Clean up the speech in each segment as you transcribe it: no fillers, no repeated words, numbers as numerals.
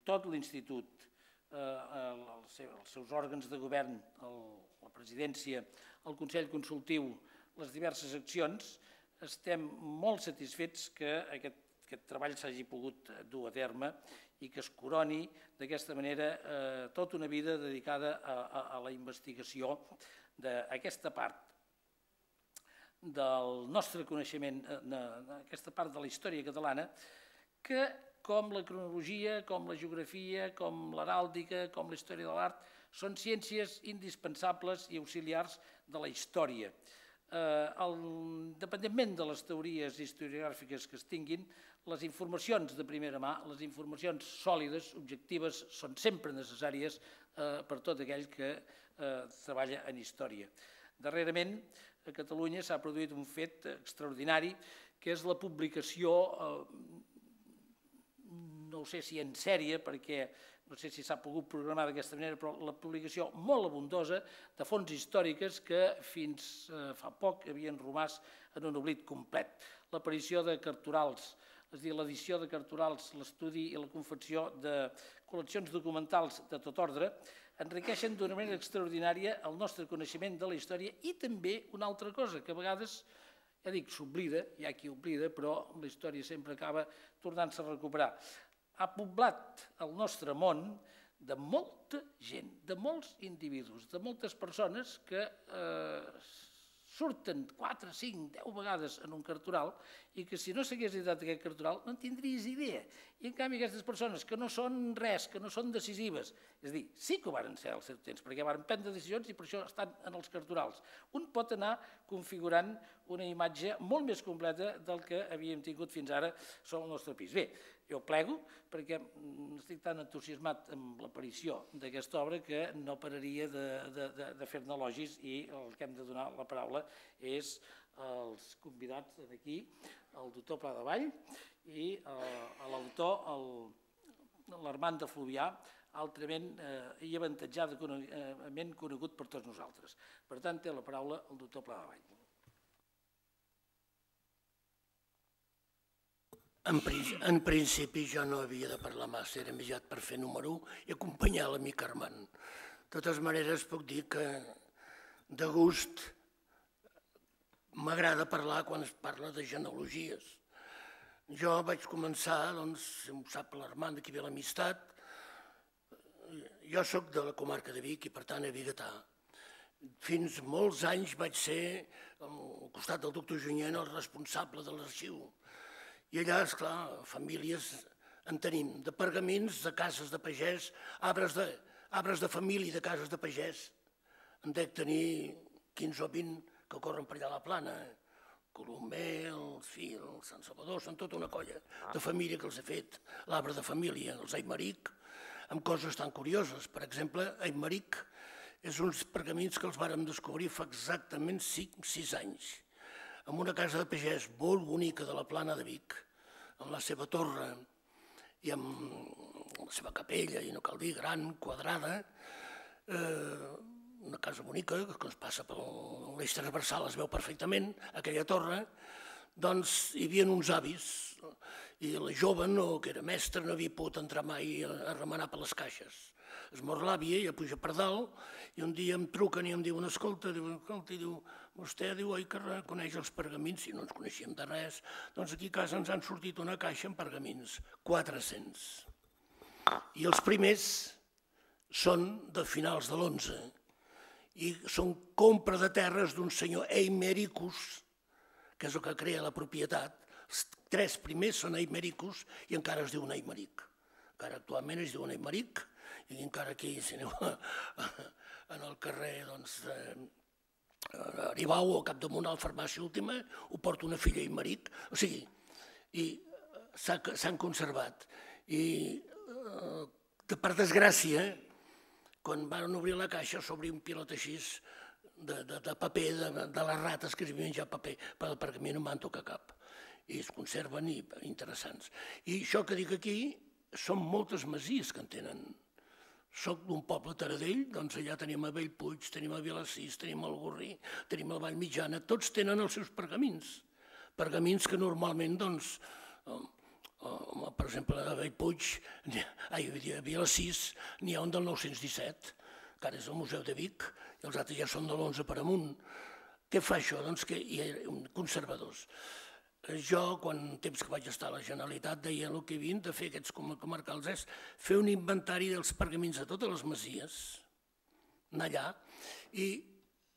tot l'institut, els seus òrgans de govern, la presidència, el Consell Consultiu, les diverses accions, estem molt satisfets que aquest treball s'hagi pogut dur a terme i que es coroni d'aquesta manera tota una vida dedicada a la investigació d'aquesta part del nostre coneixement, aquesta part de la història catalana, que com la cronologia, com la geografia, com l'heràldica, com la història de l'art, són ciències indispensables i auxiliars de la història. Independentment de les teories historiogràfiques que es tinguin, les informacions de primera mà, les informacions sòlides, objectives, són sempre necessàries per tot aquell que treballa en història. Darrerament, a Catalunya s'ha produït un fet extraordinari, que és la publicació, no sé si en sèrie, perquè no sé si s'ha pogut programar d'aquesta manera, però la publicació molt abundosa de fonts històriques que fins fa poc havien romàs en un oblit complet. L'aparició de carturals, és a dir, l'edició de carturals, l'estudi i la confecció de col·leccions documentals de tot ordre, enriqueixen d'una manera extraordinària el nostre coneixement de la història i també una altra cosa que a vegades, ja dic, s'oblida, hi ha qui oblida, però la història sempre acaba tornant-se a recuperar. Ha poblat el nostre món de molta gent, de molts individus, de moltes persones que surten 4, 5, 10 vegades en un cartural i que si no s'hagués editat aquest cartural no en tindries idea. I en canvi aquestes persones que no són res, que no són decisives, és a dir, sí que ho van ser als seus temps, perquè van prendre decisions i per això estan en els carturals. Un pot anar configurant una imatge molt més completa del que havíem tingut fins ara sobre el nostre país. Bé, jo plego perquè estic tan entusiasmat amb l'aparició d'aquesta obra que no pararia de fer-ne elogis i el que hem de donar la paraula és als convidats d'aquí, el doctor Pla de Vall i l'autor, l'Armand de Fluvià, altrament i avantatjadament conegut per tots nosaltres. Per tant, té la paraula el doctor Pla de Vall. En principi jo no havia de parlar massa, era més aviat per fer número 1 i acompanyar l'amic Armand. De totes maneres puc dir que de gust m'agrada parlar quan es parla de genealogies. Jo vaig començar, doncs, si ho sap l'Armand, d'aquí ve l'amistat, jo soc de la comarca de Vic i per tant biguetà. Fins molts anys vaig ser, al costat del doctor Junyent, el responsable de l'arxiu. I allà, esclar, famílies en tenim, de pergamins, de cases de pagès, arbres de família de cases de pagès. En dec tenir 15 o 20 que corren per allà a la plana. Colomer, el Fil, el Sant Salvador, són tota una colla de família que els he fet. L'arbre de família, els Aimeric, amb coses tan curioses. Per exemple, Aimeric és uns pergamins que els vàrem descobrir fa exactament 6 anys. En una casa de pagès molt bonica de la Plana de Vic, amb la seva torre i amb la seva capella, i no cal dir, gran, quadrada, una casa bonica que es passa per l'eix transversal, es veu perfectament, aquella torre, doncs hi havia uns avis i la jove, que era mestra, no havia pogut entrar mai a remenar per les caixes. Es mor l'àvia, ella puja per dalt, i un dia em truquen i em diuen, escolta, vostè diu, oi que coneix els pergamins? Si no ens coneixíem de res, doncs aquí a casa ens han sortit una caixa amb pergamins, 400. I els primers són de finals de l'11, i són compra de terres d'un senyor Eimericus, que és el que crea la propietat. Els 3 primers són Eimericus i encara es diuen Aimeric. Encara actualment es diuen Aimeric, i encara aquí, si aneu en el carrer, doncs, Aribau o capdamunt a la farmàcia última, ho porta una filla Aimeric, o sigui, i s'han conservat. I, per desgràcia, quan van obrir la caixa s'obria un pilot així de paper, de les rates que es menjar paper, però per mi no em van tocar cap. I es conserven i interessants. I això que dic aquí són moltes masies que en tenen. Soc d'un poble Taradell, doncs allà tenim a Bellpuig, tenim a Vilassís, tenim al Gorrí, tenim a la Vall Mitjana, tots tenen els seus pergamins. Pergamins que normalment, doncs, Per exemple, a Bellpuig, a Vilassís, n'hi ha un del 917, que ara és el Museu de Vic, i els altres ja són de l'11 per amunt. Què fa això? Doncs que hi ha conservadors. Jo, quan temps que vaig estar a la Generalitat, deia el que havien de fer aquests comarcals és fer un inventari dels pergamins de totes les masies, anar allà, i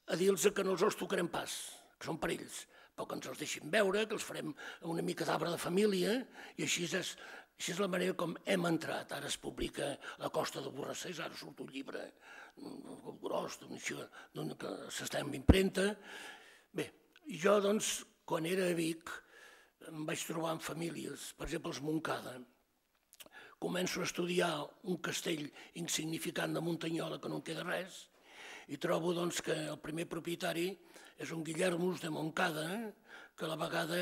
a dir-los que no els tocarem pas, que són per ells, però que ens els deixin veure, que els farem una mica d'arbre de família, i així és la manera com hem entrat. Ara es publica La Costa de Borrassers, ara surt un llibre gros, que s'està en impremta. Bé, jo, doncs, quan era a Vic, em vaig trobar amb famílies, per exemple, els Montcada. Començo a estudiar un castell insignificant de Muntanyola, que no en queda res, i trobo doncs, que el primer propietari és un Guillermus de Montcada, que a la vegada,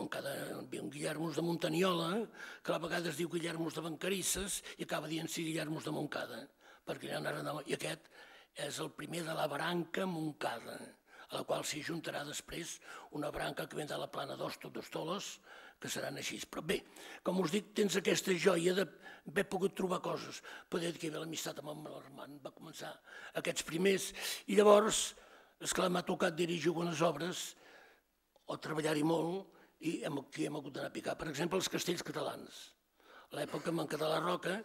un Guillermus de Muntanyola, que a la vegada es diu Guillermus de Bancarisses i acaba dient-s'hi Guillermus de Montcada, perquè i aquest és el primer de la branca Montcada, a la qual s'hi juntarà després una branca que vindrà a la plana d'Hostoles, que seran així. Però bé, com us dic, tens aquesta joia d'haver pogut trobar coses. Poder dir que hi havia l'amistat amb el Armand, va començar aquests primers, i llavors, esclar, m'ha tocat dirigir algunes obres, o treballar-hi molt, i aquí hem hagut d'anar a picar. Per exemple, els castells catalans. A l'època, en Català Roca,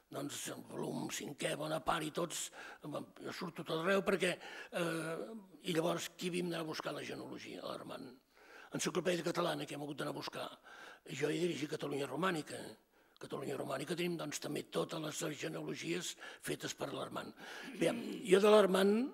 doncs el volum 5è, Bonaparte i tots, jo surto tot arreu perquè... I llavors, qui havíem d'anar a buscar la genealogia? L'Armand. Enciclopèdia Catalana, que hem hagut d'anar a buscar. Jo he dirigit Catalunya Romànica. Catalunya Romànica tenim doncs també totes les genealogies fetes per l'Armand. Bé, jo de l'Armand,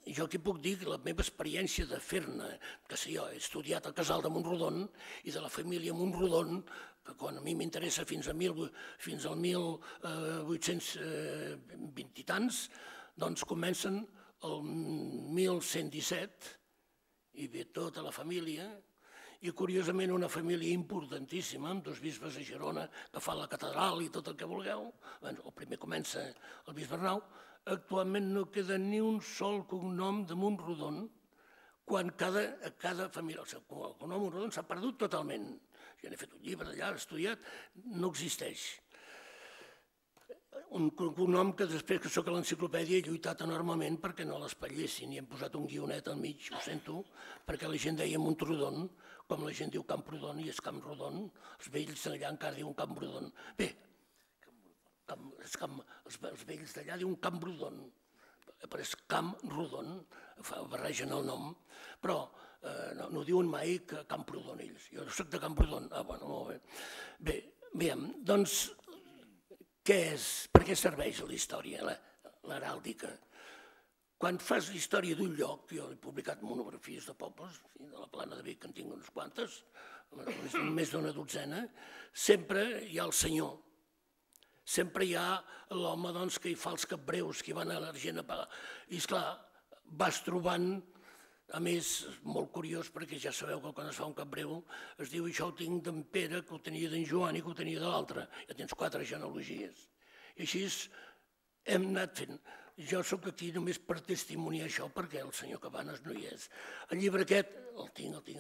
jo aquí puc dir la meva experiència de fer-ne, que sé jo, he estudiat al Casal de Montrodon i de la família Montrodon, que quan a mi m'interessa fins al 1820 i tants, doncs comencen el 1117 i ve tota la família, i curiosament una família importantíssima, amb dos bisbes a Girona que fan la catedral i tot el que vulgueu. El primer comença el bisbe Arnau. Actualment no queda ni un sol cognom de Montrodon, quan cada família, el cognom Montrodon s'ha perdut totalment. Jo n'he fet un llibre allà, l'he estudiat, no existeix. Un cognom que després que soc a l'enciclopèdia he lluitat enormement perquè no l'espatllessin i hem posat un guionet al mig, ho sento, perquè la gent deia Montrodon, com la gent diu Camprodon i és Camprodon, els vells d'allà encara diuen Camprodon. Bé, els vells d'allà diuen Camprodon, però és Camprodon, barregen el nom, però no diuen mai que Camprodon ells. Jo soc de Camprodon. Bueno, molt bé. Bé, doncs, què és? Per què serveix la història, l'heràldica? Quan fas la història d'un lloc, jo he publicat monografies de pobles, de la Plana de Vic, que en tinc unes quantes, més d'una dotzena, sempre hi ha el senyor. Sempre hi ha l'home que hi fa els capbreus, que van a l'Argent a pagar. I, esclar, vas trobant, a més, molt curiós, perquè ja sabeu que quan es fa un capbreu es diu això ho tinc d'en Pere, que ho tenia d'en Joan i que ho tenia de l'altre. Ja tens 4 genealogies. I així hem anat fent. Jo sóc aquí només per testimoniar això, perquè el senyor Cabanes no hi és. El llibre aquest el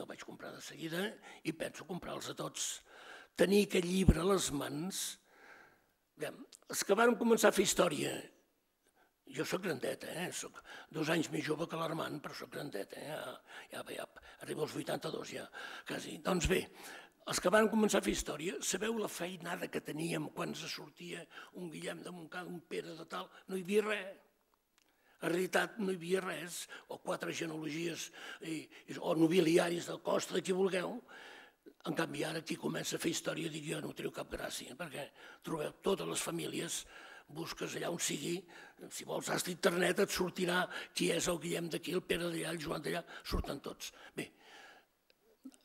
vaig comprar de seguida i penso comprar-los a tots. Tenir aquest llibre a les mans... Els que van començar a fer història, jo soc grandet, soc 2 anys més jove que l'Armand, però soc grandet, ja arribo als 82 ja, quasi. Doncs bé, els que van començar a fer història, sabeu la feinada que teníem quan se sortia un Guillem de Montcada, un Pere de tal, no hi havia res. En realitat no hi havia res, o 4 genealogies, o nobiliaris del Costa, de qui vulgueu. En canvi, ara qui comença a fer història, dic jo, no teniu cap gràcia, perquè trobeu totes les famílies, busques allà on sigui, si vols has d'internet et sortirà qui és el Guillem d'aquí, el Pere d'allà, el Joan d'allà, surten tots. Bé,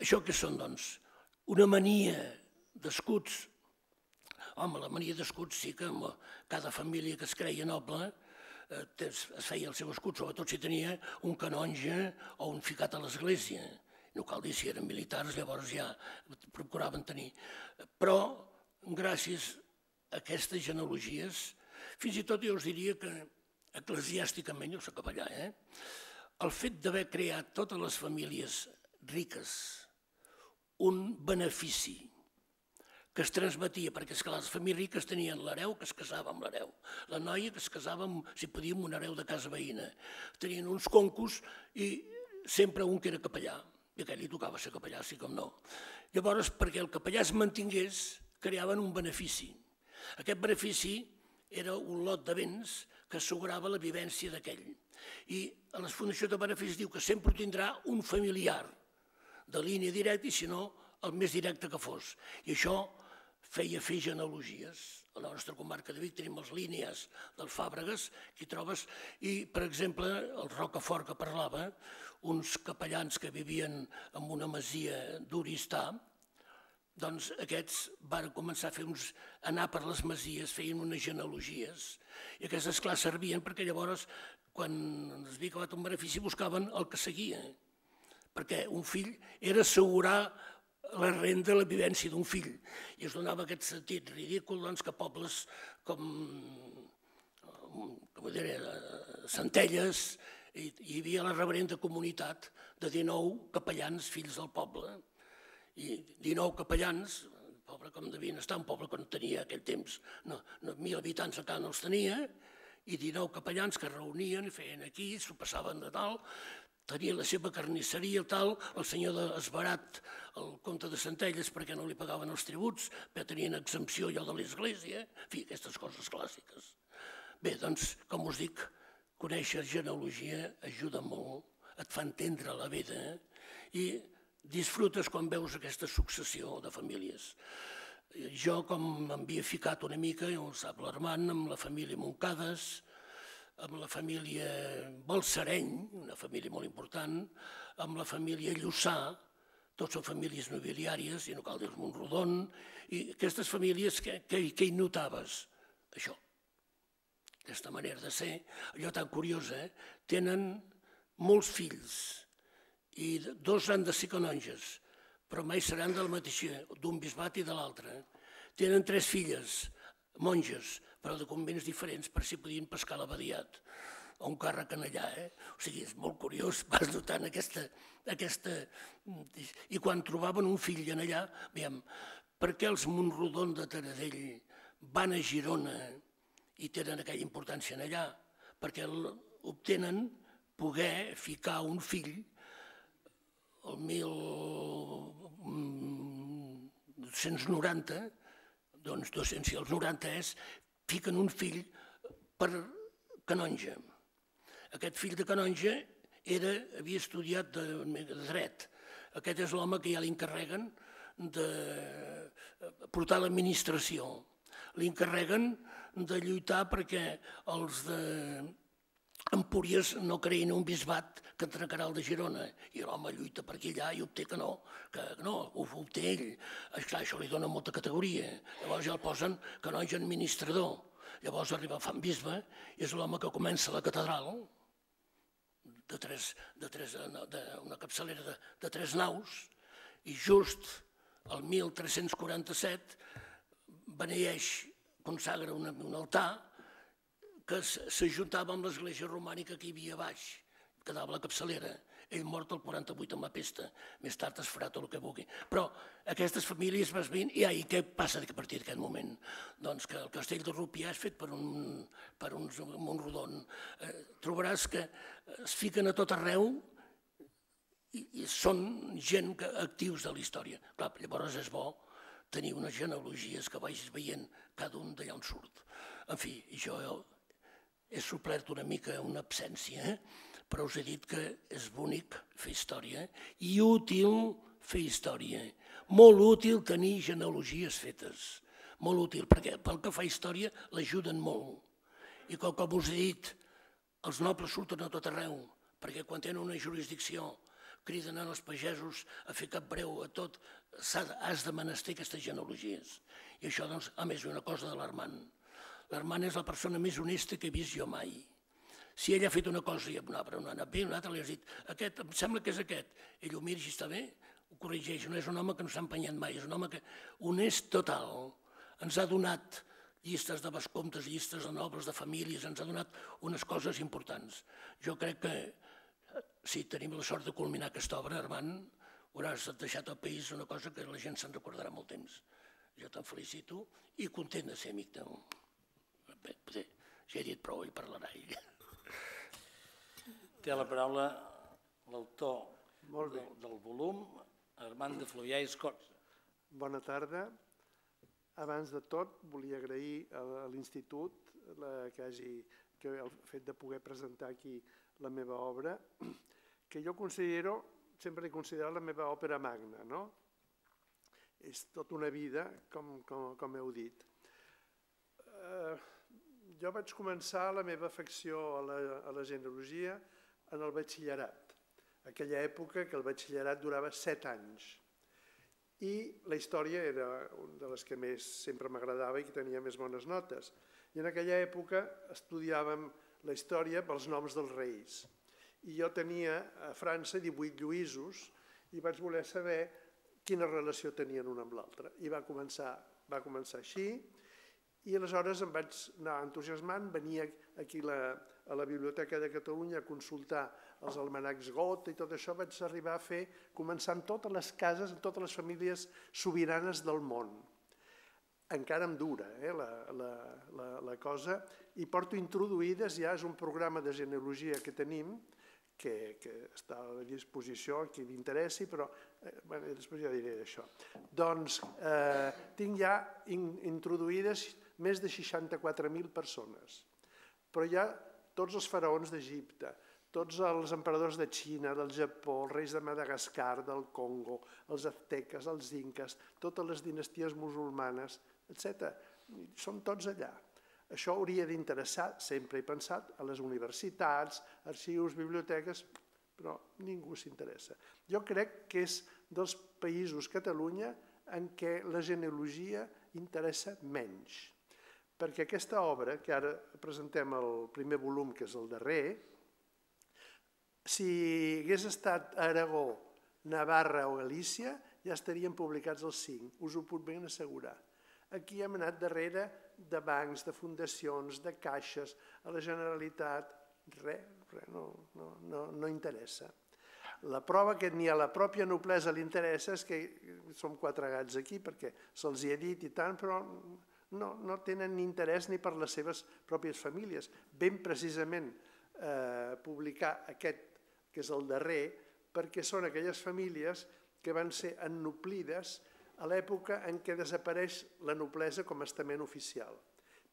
això què són, doncs? Una mania d'escuts. Home, la mania d'escuts sí que cada família que es creia noble es feia el seu escut, sobretot si tenia un canonge o un ficat a l'església. No cal dir si eren militars, llavors ja procuraven tenir. Però, gràcies a aquestes genealogies, fins i tot jo us diria que eclesiàsticament, jo soc capellà, el fet d'haver creat totes les famílies riques un benefici que es transmetia, perquè és que les famílies riques tenien l'hereu que es casava amb l'hereu, la noia que es casava, si podia, amb un hereu de casa veïna. Tenien uns concos i sempre un que era capellà, i aquell li tocava ser capellà, sí com no. Llavors, perquè el capellà es mantingués, creaven un benefici. Aquest benefici era un lot de béns que assegurava la vivència d'aquell. I a les fundacions de beneficis diu que sempre tindrà un familiar de línia directa i, si no, el més directe que fos. I això feia fer genealogies. A la nostra comarca de Vic tenim les línies dels Fàbregues, que hi trobes, i, per exemple, el Rocafort que parlava, uns capellans que vivien en una masia d'Oristà, doncs aquests van començar a anar per les masies, feien unes genealogies, i aquestes, clar, servien perquè llavors, quan es havia acabat un benefici, buscaven el que seguia, perquè un fill era assegurar la renda, la vivència d'un fill, i es donava aquest sentit ridícul que pobles com Centelles hi havia la reverenda comunitat de 19 capellans fills del poble, i 19 capellans, un poble com devien estar, un poble que no tenia aquell temps, 1.000 habitants encara no els tenia, i 19 capellans que es reunien i feien aquí, s'ho passaven de tal, tenia la seva carnisseria, tal, el senyor d'Esbarat, el comte de Centelles, perquè no li pagaven els tributs, perquè tenien exempció allò de l'església, en fi, aquestes coses clàssiques. Bé, doncs, com us dic, conèixer genealogia ajuda molt, et fa entendre la vida i disfrutes quan veus aquesta successió de famílies. Jo, com m'havia ficat una mica, ja ho sap l'Armand, amb la família Montcades, amb la família Balsareny, una família molt important, amb la família Lluçà, tots són famílies nobiliàries, i no cal dir Montrodon, i aquestes famílies, què hi notaves? Això, aquesta manera de ser, allò tan curiosa, tenen molts fills, i 2 han de ser canonges, però mai seran del mateix, d'un bisbat i de l'altre. Tenen 3 filles, monges, però de convents diferents, per si podien pescar l'abadiat o un càrrec en allà. O sigui, és molt curiós, vas notant aquesta... I quan trobaven un fill en allà, veiem, per què els Montrodon de Taradell van a Girona i tenen aquella importància en allà? Perquè obtenen poder ficar un fill el 1290, doncs 200 i els 90 fiquen un fill per canonge. Aquest fill de canonge havia estudiat de dret. Aquest és l'home que ja li encarreguen de portar l'administració. Li encarreguen de lluitar perquè els d'Empúries no creïn un bisbat que entregarà el de Girona. I l'home lluita per aquí allà i obté que no, ho obté ell. Esclar, això li dona molta categoria. Llavors ja el posen canonge administrador. Llavors arriba Fan Bisbe i és l'home que comença la catedral una capçalera de 3 naus, i just el 1347 beneeix, consagra un altar que s'ajuntava amb l'església romànica que hi havia a baix, quedava la capçalera. Ell mort el 48 amb la pesta, més tard es farà tot el que vulgui. Però aquestes famílies vas veient, i què passa a partir d'aquest moment? Doncs que el castell de Rupià és fet per uns Montrodon. Trobaràs que es fiquen a tot arreu i són gent actius de la història. Clar, llavors és bo tenir unes genealogies que vagis veient cada un d'allà on surt. En fi, jo he suplert una mica una absència, però us he dit que és bonic fer història i útil fer història. Molt útil tenir genealogies fetes. Molt útil, perquè pel que fa a història l'ajuden molt. I com us he dit, els nobles surten a tot arreu, perquè quan tenen una jurisdicció criden als pagesos a fer cap breu a tot, has de menester aquestes genealogies. I això, doncs, a més, una cosa de l'Armand. L'Armand és la persona més honesta que he vist jo mai. Si ell ha fet una cosa i no ha anat bé, un altre li has dit, aquest, em sembla que és aquest. Ell ho mira i està bé, ho corregeix. No és un home que no s'ha empenyat mai, és un home que honest total. Ens ha donat llistes de vescomtes, llistes de nobles, de famílies, ens ha donat unes coses importants. Jo crec que si tenim la sort de culminar aquesta obra, Armand, hauràs deixat al país una cosa que la gent se'n recordarà molt temps. Jo te'n felicito i content de ser amic teu. Bé, ja he dit prou i parlarà ell. Té la paraula l'autor del volum, Armand de Fluvià i Escorça. Bona tarda. Abans de tot, volia agrair a l'Institut el fet de poder presentar aquí la meva obra, que jo considero, sempre he considerat la meva òpera magna, no? És tota una vida, com heu dit. Jo vaig començar la meva afecció a la genealogia en el batxillerat. Aquella època que el batxillerat durava 7 anys. I la història era una de les que més sempre m'agradava i que tenia més bones notes. I en aquella època estudiàvem la història pels noms dels reis. I jo tenia a França 18 Lluïsos i vaig voler saber quina relació tenien un amb l'altre. I va començar així. I aleshores em vaig anar entusiasmant, venia aquí a la Biblioteca de Catalunya a consultar els almanacs Got i tot això, vaig arribar a fer, començar en totes les cases, en totes les famílies sobiranes del món. Encara em dura la cosa, i porto introduïdes, ja és un programa de genealogia que tenim, que està a disposició, a qui li interessi, però després ja diré d'això. Doncs tinc ja introduïdes més de 64.000 persones, però hi ha tots els faraons d'Egipte, tots els emperadors de Xina, del Japó, els reis de Madagascar, del Congo, els azteques, els inques, totes les dinasties musulmanes, etc. Són tots allà. Això hauria d'interessar, sempre he pensat, a les universitats, arxius, biblioteques, però ningú s'interessa. Jo crec que és dels països, Catalunya, en què la genealogia interessa menys. Perquè aquesta obra, que ara presentem el primer volum, que és el darrer, si hagués estat a Aragó, Navarra o Galícia, ja estarien publicats els 5, us ho puc ben assegurar. Aquí hem anat darrere de bancs, de fundacions, de caixes, a la Generalitat, res, no interessa. La prova que ni a la pròpia noblesa li interessa és que som 4 gats aquí, perquè se'ls hi ha dit i tant, però no tenen ni interès ni per les seves pròpies famílies. Ben precisament publicar aquest, que és el darrer, perquè són aquelles famílies que van ser ennoblides a l'època en què desapareix la noblesa com a estament oficial.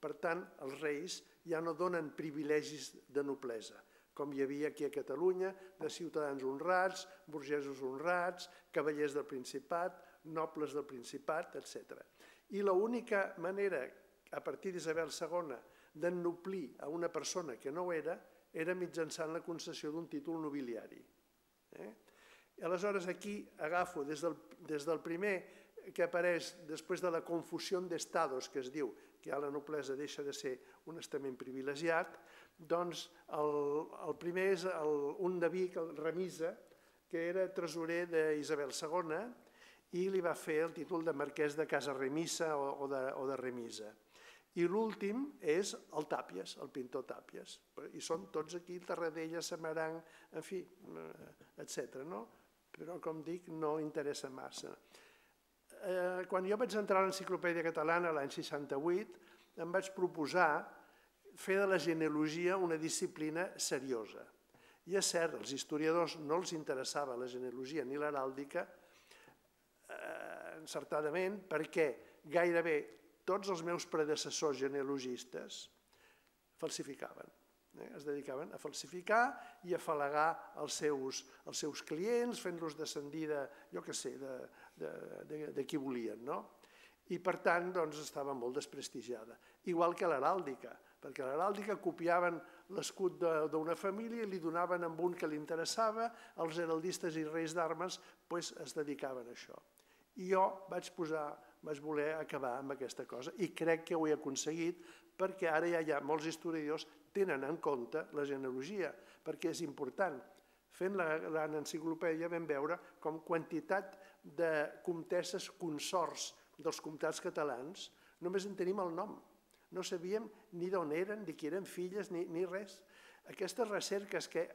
Per tant, els reis ja no donen privilegis de noblesa, com hi havia aquí a Catalunya, de ciutadans honrats, burgesos honrats, cavallers del Principat, nobles del Principat, etc. I l'única manera, a partir d'Isabel II, d'ennoblir a una persona que no ho era mitjançant la concessió d'un títol nobiliari. Aleshores, aquí agafo des del primer que apareix després de la confusió d'estados, que es diu que ja la noblesa deixa de ser un estament privilegiat, doncs el primer és un de Vic, el Remisa, que era tresorer d'Isabel II i li va fer el títol de marquès de Casa Remisa o de Remisa. I l'últim és el Tàpies, el pintor Tàpies. I són tots aquí, Tarradella, Samaranc, en fi, etc. Però, com dic, no interessa massa. Quan jo vaig entrar a l'Enciclopèdia Catalana l'any 68, em vaig proposar fer de la genealogia una disciplina seriosa. I és cert, als historiadors no els interessava la genealogia ni l'heràldica, encertadament, perquè gairebé tots els meus predecessors genealogistes falsificaven. Es dedicaven a falsificar i a afalagar els seus clients, fent-los descendir de, jo què sé, de qui volien, no? I per tant, doncs, estava molt desprestigiada. Igual que l'heràldica, perquè l'heràldica copiaven l'escut d'una família i li donaven amb un que li interessava, els heraldistes i reis d'armes es dedicaven a això. I jo vaig voler acabar amb aquesta cosa i crec que ho he aconseguit perquè ara ja hi ha molts historiadors tenen en compte la genealogia, perquè és important. Fent l'enciclopèdia vam veure com quantitat de comtesses consorts dels comtats catalans només en tenim el nom. No sabíem ni d'on eren, ni qui eren filles, ni res. Aquestes recerques que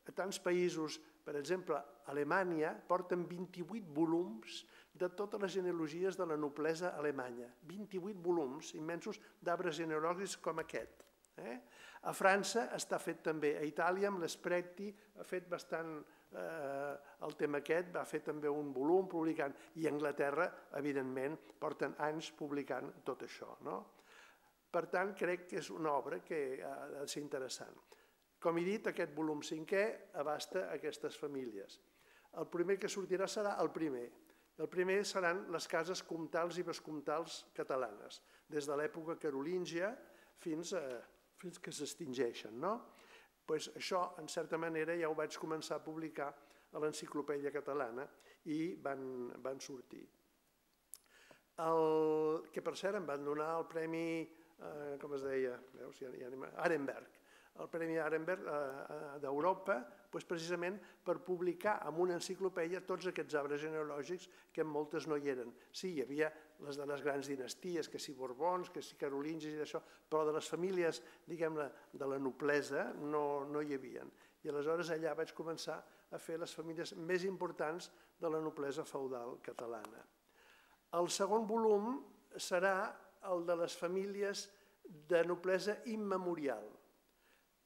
a tants països Per exemple, a Alemanya porten 28 volums de totes les genealogies de la noblesa alemanya. 28 volums immensos d'arbres genealògics com aquest. A França està fet també, a Itàlia amb l'Espretti ha fet bastant el tema aquest, va fer també un volum publicant, i a Anglaterra, evidentment, porten anys publicant tot això. Per tant, crec que és una obra que ha de ser interessant. Com he dit, aquest volum 5è abasta aquestes famílies. El primer que sortirà serà el primer. El primer seran les cases comtals i vescomtals catalanes, des de l'època carolíngia fins que s'extingeixen. Això, en certa manera, ja ho vaig començar a publicar a l'Enciclopèdia Catalana i van sortir. Que, per cert, em van donar el premi, com es deia, Arenberg, el Premi Arenberg d'Europa, precisament per publicar en una enciclopèdia tots aquests arbres genealògics que en moltes no hi eren. Sí, hi havia les de les grans dinasties, que si Borbons, que si carolingis i d'això, però de les famílies, diguem-ne, de la noblesa no hi havia. I aleshores allà vaig començar a fer les famílies més importants de la noblesa feudal catalana. El segon volum serà el de les famílies de noblesa immemorial.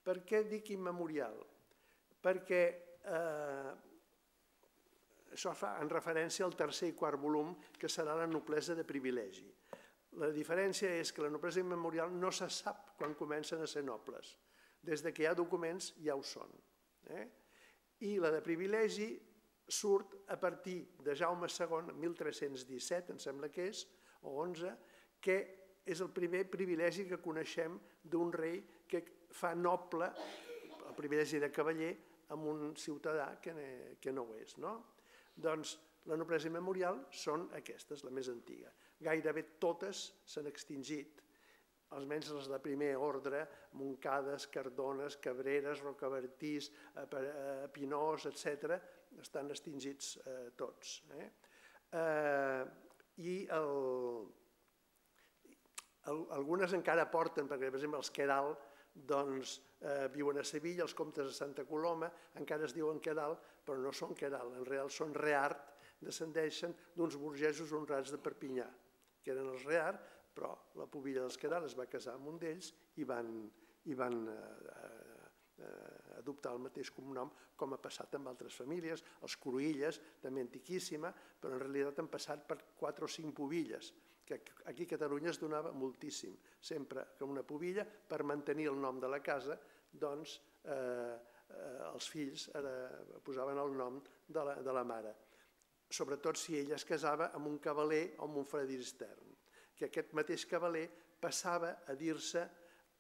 Per què dic immemorial? Perquè això fa en referència al tercer i quart volum, que serà la noblesa de privilegi. La diferència és que la noblesa immemorial no se sap quan comencen a ser nobles. Des que hi ha documents ja ho són. I la de privilegi surt a partir de Jaume II, 1317, em sembla que és, o 11, que és el primer privilegi que coneixem d'un rei que fa noble, el privilegi de cavaller, amb un ciutadà que no ho és. Doncs la noblesa immemorial són aquestes, la més antiga. Gairebé totes s'han extingit, almenys les de primer ordre, Montcades, Cardones, Cabreres, Rocabertís, Pinós, etc., estan extingits tots. I algunes encara porten, perquè per exemple els Queralt viuen a Sevilla, els comtes de Santa Coloma encara es diuen Queralt, però no són Queralt, en real són Reart, descendeixen d'uns burgesos honrats de Perpinyà, que eren els Reart, però la pubilla dels Queralt es va casar amb un d'ells i van adoptar el mateix cognom, com ha passat amb altres famílies. Els Cruïlles, també antiquíssima, però en realitat han passat per 4 o 5 pubilles, que aquí a Catalunya es donava moltíssim, sempre que una pubilla, per mantenir el nom de la casa, doncs els fills posaven el nom de la mare, sobretot si ella es casava amb un cavaler o amb un fredistern, que aquest mateix cavaler passava a dir-se,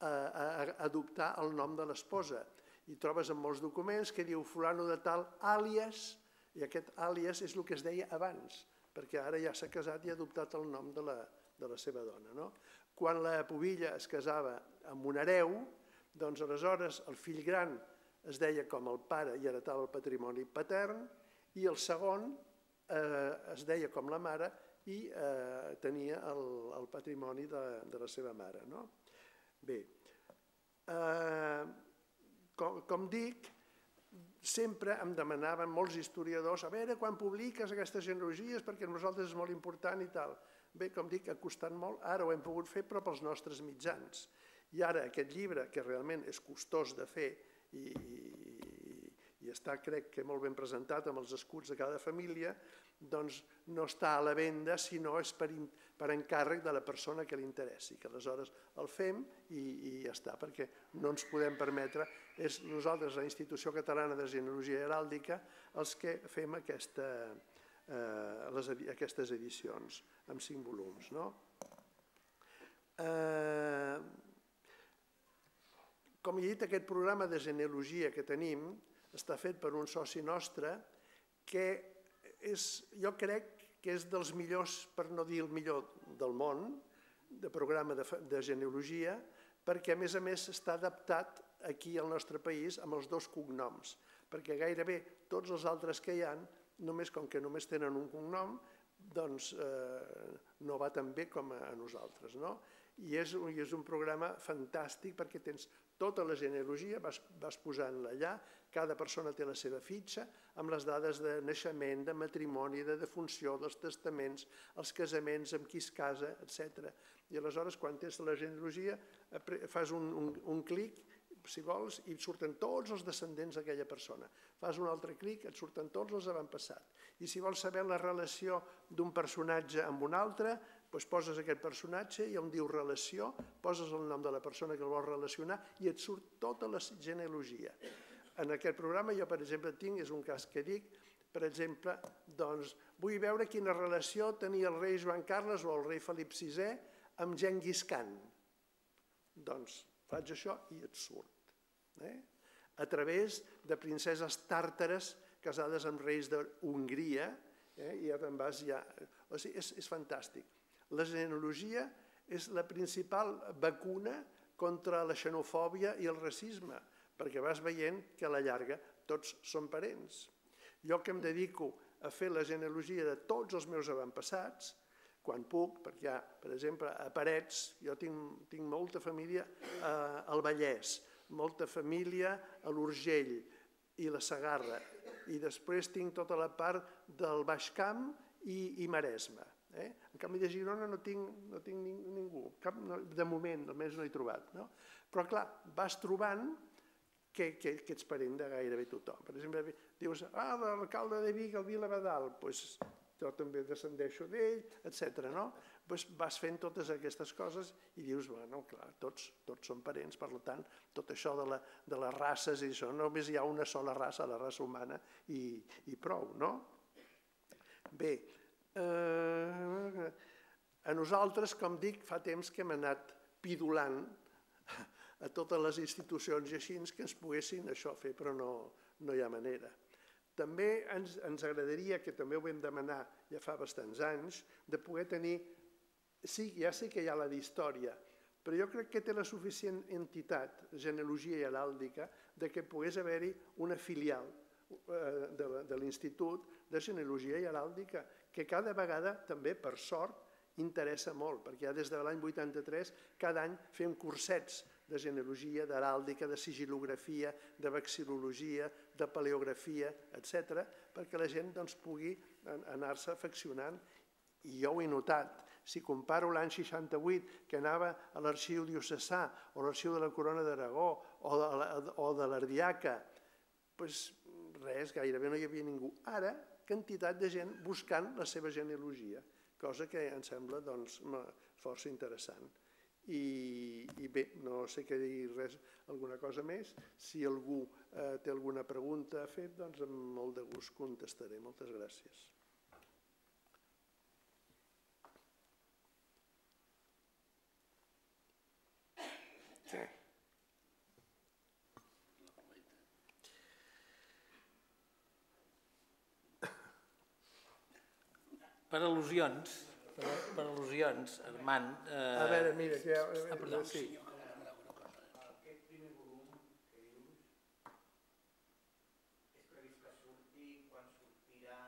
a adoptar el nom de l'esposa, i trobes en molts documents que diu fulano de tal àlies, i aquest àlies és el que es deia abans, perquè ara ja s'ha casat i ha adoptat el nom de la seva dona. Quan la pubilla es casava amb un hereu, doncs aleshores el fill gran es deia com el pare i heretava el patrimoni patern, i el segon es deia com la mare i tenia el patrimoni de la seva mare. Bé, com dic, sempre em demanaven molts historiadors a veure quan publiques aquestes genealogies perquè per nosaltres és molt important i tal. Bé, com dic, ha costat molt, ara ho hem pogut fer però pels nostres mitjans. I ara aquest llibre, que realment és costós de fer i està, crec que molt ben presentat amb els escuts de cada família, doncs no està a la venda, sinó és per encàrrec de la persona que li interessi, que aleshores el fem i ja està, perquè no ens podem permetre, és nosaltres, la Institució Catalana de Genealogia Heràldica, els que fem aquestes edicions amb 5 volums. Com he dit, aquest programa de genealogia que tenim està fet per un soci nostre que jo crec que és dels millors, per no dir el millor del món, de programa de genealogia, perquè a més està adaptat aquí al nostre país amb els 2 cognoms, perquè gairebé tots els altres que hi ha, com que només tenen un cognom, doncs no va tan bé com a nosaltres. I és un programa fantàstic perquè tens tota la genealogia, vas posant-la allà, cada persona té la seva fitxa, amb les dades de naixement, de matrimoni, de defunció, dels testaments, els casaments, amb qui es casa, etc. I aleshores, quan tens la genealogia, fas un clic, si vols, i et surten tots els descendents d'aquella persona. Fas un altre clic, et surten tots els avantpassats. I si vols saber la relació d'un personatge amb un altre, doncs poses aquest personatge i on diu relació, poses el nom de la persona que el vols relacionar i et surt tota la genealogia. En aquest programa jo, per exemple, tinc, és un cas que dic, per exemple, doncs vull veure quina relació tenia el rei Joan Carles o el rei Felip VI amb Genghis Khan. Doncs faig això i et surt. A través de princeses tàrtares casades amb reis d'Hongria, i ja te'n vas ja... O sigui, és fantàstic. La genealogia és la principal vacuna contra la xenofòbia i el racisme, perquè vas veient que a la llarga tots són parents. Jo que em dedico a fer la genealogia de tots els meus avantpassats, quan puc, perquè hi ha, per exemple, a Parets, jo tinc molta família al Vallès, molta família a l'Urgell i la Segarra, i després tinc tota la part del Baix Camp i Maresme. En canvi de Girona no tinc ningú, de moment, almenys no he trobat. Però clar, vas trobant que ets parent de gairebé tothom. Per exemple, dius, l'alcalde de Vic, el Vila Badal, doncs jo també descendeixo d'ell, etc. Vas fent totes aquestes coses i dius, bueno, clar, tots són parents, per tant, tot això de les races i això, només hi ha una sola raça, la raça humana, i prou, no? Bé, a nosaltres, com dic, fa temps que hem anat pidolant a totes les institucions i així que ens poguessin això fer, però no hi ha manera. També ens agradaria, que també ho vam demanar ja fa bastants anys, de poder tenir, ja sé que hi ha la d'història, però jo crec que té la suficient entitat, genealogia i heràldica, que pogués haver-hi una filial de l'Institut de Genealogia i Heràldica, que cada vegada també, per sort, interessa molt, perquè ja des de l'any 83 cada any fem cursets de genealogia, d'heràldica, de sigil·lografia, de vexil·lologia, de paleografia, etc., perquè la gent pugui anar-se afeccionant. I jo ho he notat. Si comparo l'any 68, que anava a l'arxiu diocesà o a l'arxiu de la Corona d'Aragó o de l'Ardiaca, doncs res, gairebé no hi havia ningú. Ara, quantitat de gent buscant la seva genealogia, cosa que em sembla força interessant. I bé, no sé què dir res, alguna cosa més. Si algú té alguna pregunta a fer, doncs amb molt de gust contestaré. Moltes gràcies. Sí. Per al·lusions, Armand... A veure, mira, perdó. sí. Aquest primer volum que dius és previst que surti, quan sortirà,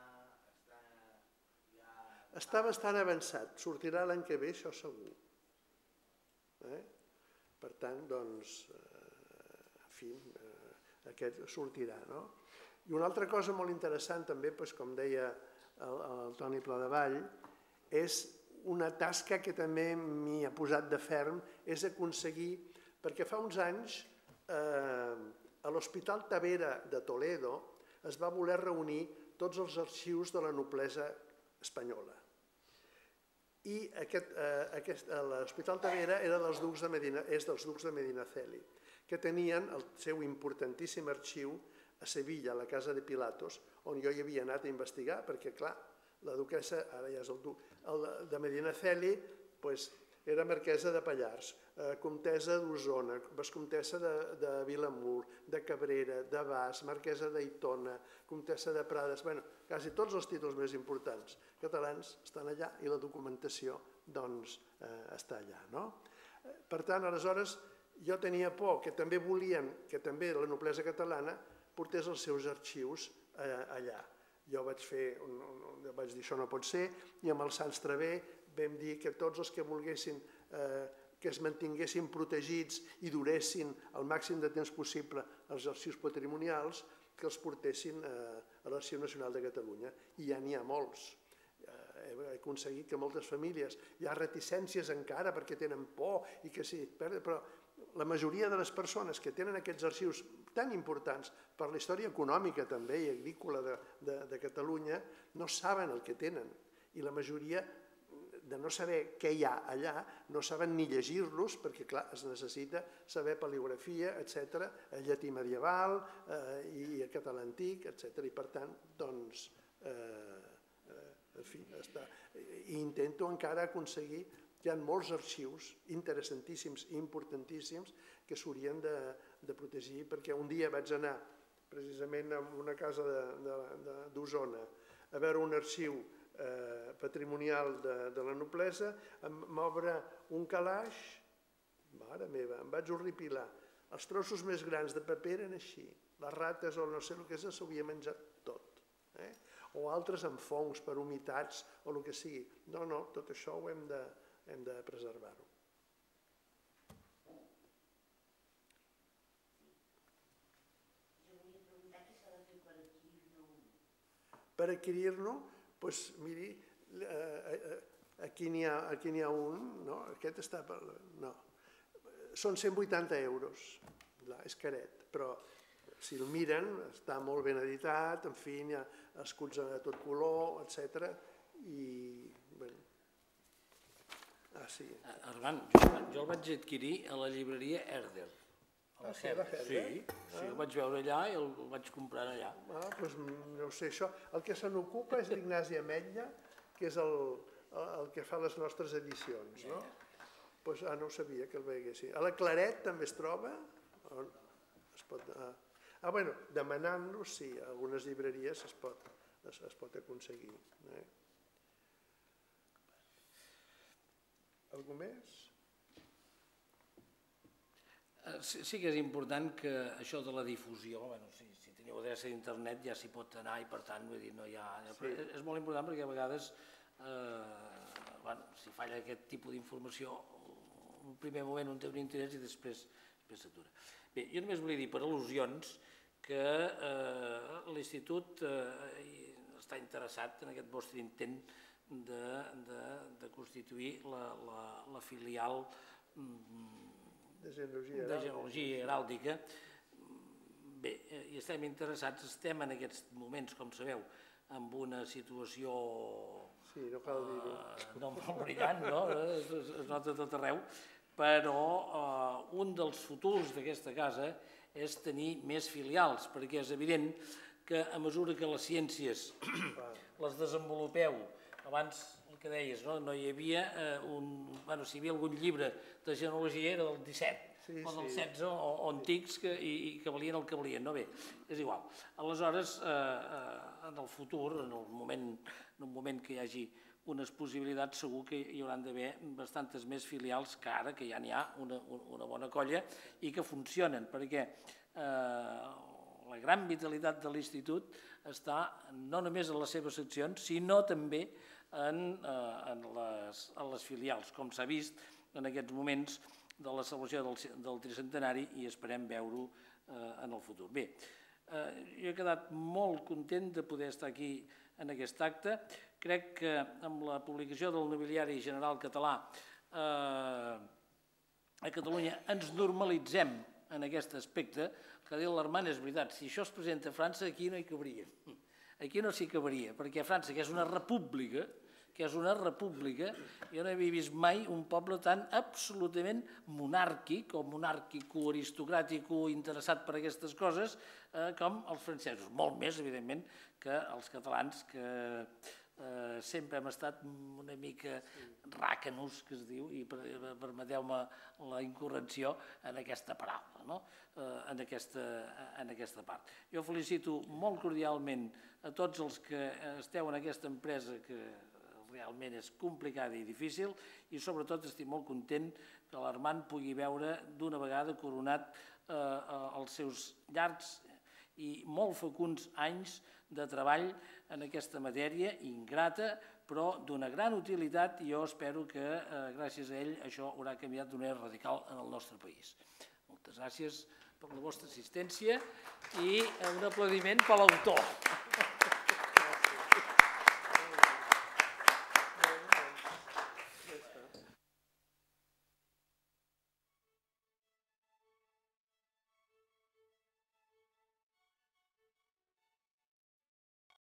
està bastant avançat, sortirà l'any que ve, això segur. Per tant, doncs, en fi, aquest sortirà, no? I una altra cosa molt interessant també, com deia el Toni Pladevall, és una tasca que també m'hi ha posat de ferm, és aconseguir, perquè fa uns anys a l'Hospital Tavera de Toledo es va voler reunir tots els arxius de la noblesa espanyola. I l'Hospital Tavera és dels ducs de Medinaceli, que tenien el seu importantíssim arxiu a Sevilla, a la casa de Pilatos, on jo hi havia anat a investigar, perquè, clar, la duquessa, ara ja és el duc, de Medinaceli, era marquesa de Pallars, comtessa d'Osona, vescomtessa de Vilamur, de Cabrera, de Bas, marquesa d'Aitona, comtessa de Prades, bueno, quasi tots els títols més importants catalans estan allà i la documentació, doncs, està allà, no? Per tant, aleshores, jo tenia por que també volien que també la noblesa catalana portés els seus arxius allà. Jo vaig dir això no pot ser, i amb el Sants Traver vam dir que tots els que volguessin que es mantinguessin protegits i duressin el màxim de temps possible els arxius patrimonials, que els portessin a l'Arxiu Nacional de Catalunya. I ja n'hi ha molts. He aconseguit que moltes famílies, hi ha reticències encara perquè tenen por i que sí, però la majoria de les persones que tenen aquests arxius tan importants per la història econòmica també i agrícola de Catalunya no saben el que tenen, i la majoria de no saber què hi ha allà no saben ni llegir-los perquè clar, es necessita saber paleografia, etc., llatí medieval i català antic, etc. I per tant, doncs, en fi, intento encara aconseguir. Hi ha molts arxius interessantíssims i importantíssims que s'haurien de protegir, perquè un dia vaig anar precisament a una casa d'Osona a veure un arxiu patrimonial de la noblesa, m'obre un calaix, mare meva, em vaig horripilar. Els trossos més grans de paper eren així, les rates o no sé el que és, s'havia menjat tot. O altres amb fongs per humitats o el que sigui. No, tot això ho hem de preservar-ho. Jo volia preguntar què s'ha de fer per adquirir-ne un. Per adquirir-ne, doncs miri, aquí n'hi ha un, no? Aquest està per... No. Són 180 euros, és caret, però si el miren està molt ben editat, en fi, hi ha escuts de tot color, etc. I, bé... sí. Armand, jo el vaig adquirir a la llibreria Herder. Sí, a la Herder? Sí, el vaig veure allà i el vaig comprar allà. Doncs no ho sé, això. El que se n'ocupa és l'Ignasi Ametlla, que és el que fa les nostres edicions, no? Doncs no ho sabia que el veiessin. A la Claret també es troba? Es pot... Bueno, demanant-lo, sí, a algunes llibreries es pot aconseguir. Algú més? Sí que és important que això de la difusió, si teniu adreça d'internet ja s'hi pot anar i per tant, vull dir, no hi ha... És molt important perquè a vegades, si falla aquest tipus d'informació, en un primer moment un té un interès i després s'atura. Bé, jo només volia dir per al·lusions que l'Institut està interessat en aquest vostre intent de constituir la filial de genealogia heràldica. Bé, hi estem interessats, estem en aquests moments, com sabeu, amb una situació no molt brillant, no? Es nota tot arreu, però un dels futurs d'aquesta casa és tenir més filials, perquè és evident que a mesura que les ciències les desenvolupeu, abans el que deies, no hi havia si hi havia algun llibre de genealogia era del 17 o del 16 o antics i que valien el que valien, no bé, és igual. Aleshores, en el futur, en un moment que hi hagi unes possibilitats, segur que hi hauran d'haver bastantes més filials que ara, que ja n'hi ha una bona colla i que funcionen, perquè la gran vitalitat de l'Institut està no només en les seves seccions, sinó també en les filials, com s'ha vist en aquests moments de la celebració del tricentenari i esperem veure-ho en el futur. Bé, jo he quedat molt content de poder estar aquí en aquest acte. Crec que amb la publicació del Nobiliari General Català a Catalunya ens normalitzem en aquest aspecte, que ha dit l'Armand, és veritat, si això es presenta a França, aquí no hi cabria. Aquí no s'hi cabaria, perquè a França, que és una república, jo no havia vist mai un poble tan absolutament monàrquic o monàrquico-aristocràtic interessat per aquestes coses com els francesos. Molt més, evidentment, que els catalans, que sempre hem estat una mica ràcanos, que es diu, i permeteu-me la incorrecció en aquesta paraula, en aquesta part. Jo felicito molt cordialment a tots els que esteu en aquesta empresa que realment és complicada i difícil i sobretot estic molt content que l'Armand pugui veure d'una vegada coronat els seus llargs i molt fecunds anys de treball en aquesta matèria ingrata però d'una gran utilitat, i jo espero que gràcies a ell això haurà canviat d'una manera radical en el nostre país. Moltes gràcies per la vostra assistència i un aplaudiment per l'autor.